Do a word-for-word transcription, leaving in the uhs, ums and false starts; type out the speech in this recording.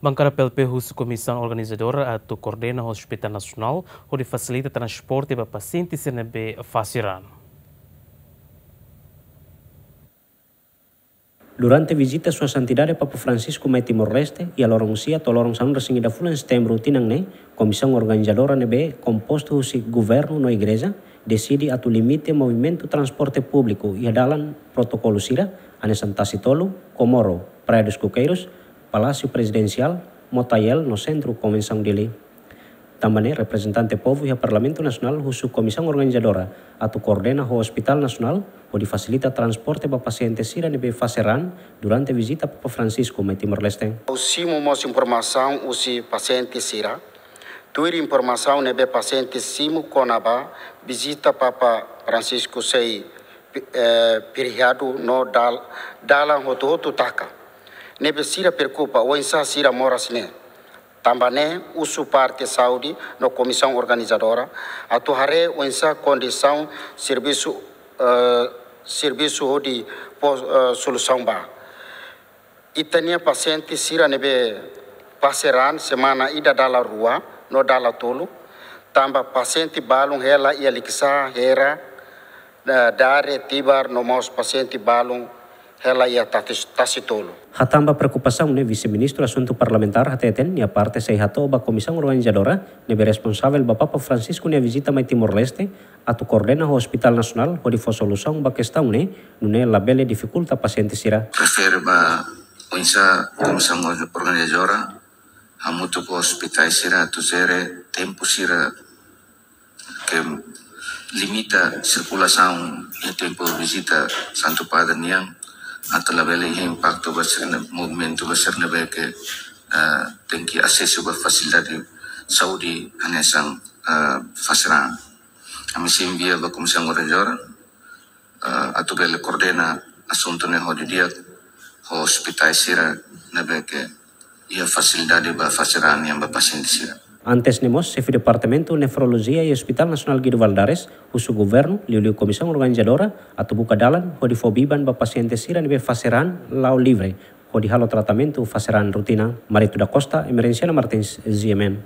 Bankada P L P husu Komisaun Organizadora atu koordena ho Hospital Nasionál hodi fasilita transporte ba pasiente sira ne'ebé fase raan. Durante vizita Sua Santidade Papa Francisco mai Timor-Leste, iha loron sia to'o loron sanulu-resin-ida fulan Setembru tinan ne'e, Komisaun Organizadora ne'ebé kompostu husi Governu no Igreja, deside atu limita movimentu transporte públiku iha dalan protokolu sira, hanesan Tasi Tolu, Comoro, Praia dos Coqueiros, Palásiu Prezidensiál, Motael no Sentru Konvensaun Dili. Tanba ne'e, reprezentante povu iha Parlamentu Nasionál husu Komisaun Organizadora atu koordena ho Hospital Nasionál hodi fasilita transporte ba pasiente sira ne'ebé fase raan durante vizita Papa Francisco mai Timor-Leste. Ha'u simu mós informasaun husi pasiente sira. Tuir informasaun ne'ebé pasiente simu kona-ba vizita Papa Francisco sei, eh, feriadu no dal-, dalan hotu-hotu taka. Ne'ebé sira preokupa, oinsá sira moras ne'e. Tanba ne'e, husu parte saúde no Komisaun Organizadora atu haree oinsá kondisaun servisu, eh, servisu hodi fó, eh, solusaun ba. Ita-nia pasiente sira ne'ebé fase raan semana ida dala rua no dala tolu, tanba pasiente balun hela iha Likisá, Hera, eh, Dare, Tibar, no mós pasiente balun hela iha Tasi-, Tasi Tolu. Hatán ba preokupasaun ne'e, Vise-Ministru Asuntu Parlamentár hateten nia parte sei hato'o ba Komisaun Organizadora ne'ebé responsavel ba Papa Francisco nia vizita mai Timor-Leste atu koordena ho Hospital Nasionál hodi fó solusaun ba kestaun ne'e, nune'e labele difikulta pasiente sira. Refere ba oinsá Komisaun Organizadora hamutuk ho ospitál sira atu jere tempu sira ke limita sirkulasaun iha tempu vizita Santu Padre nian, atu labele iha impaktu ba sira-nia movimentu ba sira ne'ebé ke, eh, tenke asesu ba fasilidade saúde hanesan, eh, fase raan. Ami sei envia ba Komisaun Organizadora, eh, atu bele koordena asuntu ne'e ho di'ak ho ospitál sira ne'ebé ke iha fasilidade ba fase raan nian ba pasiente sira. Antes ne'e mós, Xefe Departamentu Nefrolojia iha Hospital Nasionál Guido Valadares husu Governu, liuliu Komisaun Organizadora, atu buka dalan hodi fó biban ba pasiente sira ne'ebé fase raan la'o livre hodi halo tratamentu fase raan rutina. Marito da Costa, Emerenciana Martins, G M N.